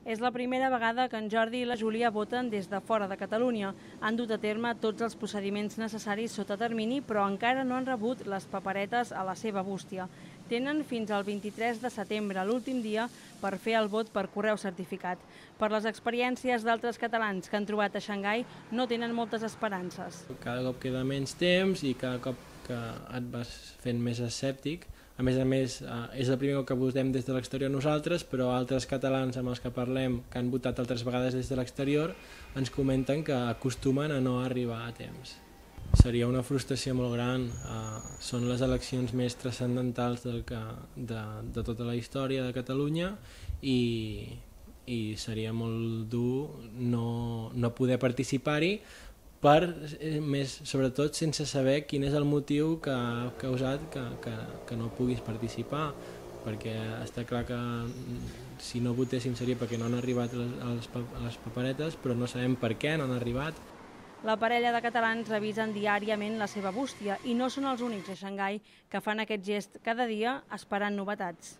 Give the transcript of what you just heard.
És la primera vegada que en Jordi i la Júlia voten des de fora de Catalunya. Han dut a terme tots els procediments necessaris sota termini, però encara no han rebut les paperetes a la seva bústia. Tenen fins al 23 de setembre, l'últim dia, per fer el vot per correu certificat. Per les experiències d'altres catalans que han trobat a Xangai, no tenen moltes esperances. Cada cop queda menys temps i cada cop que et vas fent més escèptic. A més, és el primer cop que votem des de l'exterior nosaltres, però altres catalans amb els que parlem, que han votat altres vegades des de l'exterior, ens comenten que acostumen a no arribar a temps. Seria una frustració molt gran. Són les eleccions més transcendentals de tota la història de Catalunya i seria molt dur no poder participar-hi, sobretot sense saber quin és el motiu que ha causat que no puguis participar, perquè està clar que si no votéssim seria perquè no han arribat les paperetes, però no sabem per què no han arribat. La parella de catalans revisen diàriament la seva bústia i no són els únics a Xangai que fan aquest gest cada dia esperant novetats.